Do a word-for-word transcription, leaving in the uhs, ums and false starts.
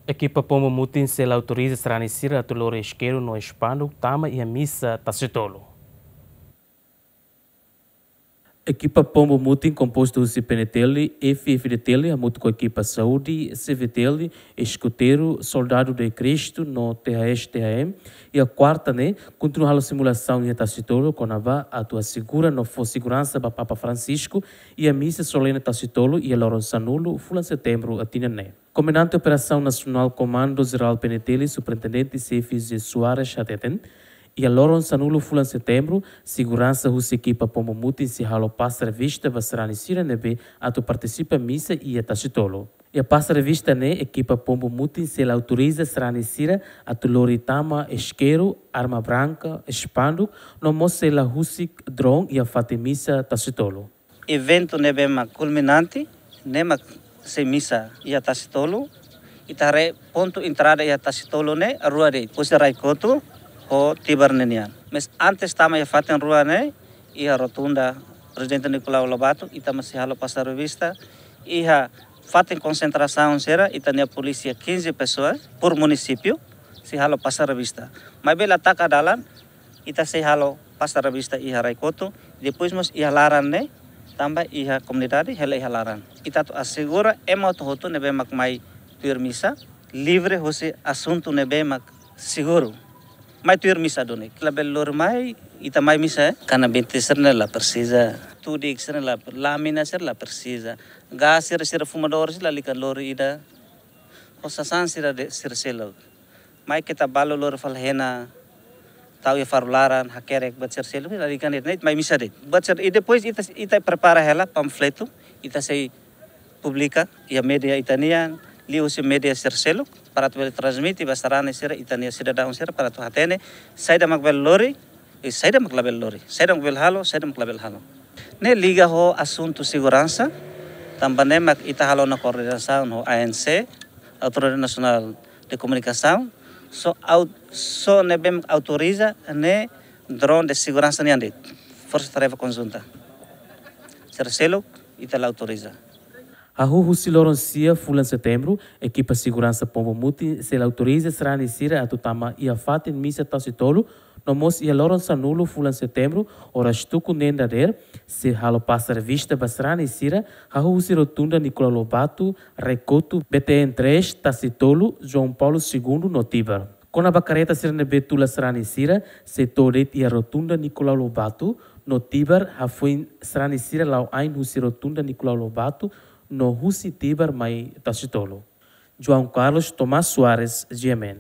Ekipa Pombu Mutin selu autoriza sarani sira atu lori iskeru no espanduk tama iha misa Tasitolu. Ekipa Pombu Mutin kompostu husi P N T L, F F D T L, hamutuk ho ekipa saúde, C V T L, eskuteiru, Soldadu de Cristo no T H S T H M, iha kuarta ne'e, kontinua halo simulasaun iha Tasitolu, kona-ba atu asegura no fó seguransa ba Papa Francisco, iha misa solene Tasitolu, iha loron sanulu, fulan Setembru, tinan ne'e. Komandante Operasaun Nasionál Komandu Jerál P N T L, Superintendente Xefe José Soares hateten, iha loron sanulu fulan Setembru, seguransa husi ekipa Pombu Mutin sei halo pasa revista ba sarani sira ne'ebé atu partisipa misa iha Tasitolu. Iha pasa revista ne'e, ekipa Pombu Mutin selu autoriza sarani sira atu lori tama iskeru, arma branka, espanduk, no mós sei la husik drone iha fatin misa Tasitolu. Eventu ne'ebé mak kulminante, ne'e mak sei misa iha Tasitolu, ita haree pontu entrada iha Tasitolu ne'e rua de'it, husi Rai Kotu ho Tibar ne'e nian. Mas antes tama iha fatin rua ne'e, iha rotunda Prezidente Nicolau Lobato, ita mós sei halo pasa revista, iha fatin konsentrasaun sira, ita-nia polísia quinze pessoas por munisípiu, sei halo pasa revista. Maibé la taka dalan, ita sei halo pasa revista iha Rai Kotu, depois mós iha laran ne'e, tanba iha komunidade, hela iha laran. Ita atu asegura ema hotu-hotu ne'ebé mak mai tuir misa, livre husi asuntu ne'ebé mak seguru. Mai tuir misa duni, labele lori mai, ita mai misa, eh? Kanabinte sira-ne'e la presiza, tudik sira-ne'e la, lâmina sira la presiza, gás sira, sira fumadór sira lalika lori ida, ho sasán sira de'it, sira seluk. Mai keta balu lori fali hena, tau iha faru laran, hakerek buat sira seluk, lalika de'it, ne'e mai misa de'it. Buat sira, i depois ita, ita prepara hela panfletu, ita sei publika iha média ita-nian, liuhusi média sira seluk, para atu bele transmite ba sarani sira, ita-nia sidadaun sira, para atu hatene, saida mak bele lori, i saida mak labele lori, saida mak bele halo, saida mak labele halo. Ne'e liga ho asuntu seguransa, tanba ne'e mak ita halo ona koordenasaun ho A N C, Autoridade Nasionál de Komunikasaun, só au-, só ne'ebé mak autoriza ne'e drone de seguransa nian de'it, Forsa Tarefa Konjunta. Sira seluk, ita la autoriza. Hahú husi loron sia fulan Setembru, ekipa seguransa Pombu Mutin selu autoriza sarani sira atu tama iha fatin misa Tasitolu, no mós iha loron sanulu fulan Setembru, oras tuku neen dadeer, sei halo pasa revista ba sarani sira, hahú husi rotunda Nicolau Lobato, Rai Kotu, B T N três, Tasitolu, João Paulo Segundo no Tibar. Kona-ba kareta sira ne'ebé tula sarani sira, sei to'o de'it iha rotunda Nicolau Lobato, no Tibar, hafoin sarani sira la'o ain husi rotunda Nicolau Lobato, no husi Tibar mai Tasitolu. João Carlos Tomás Soares, G M N.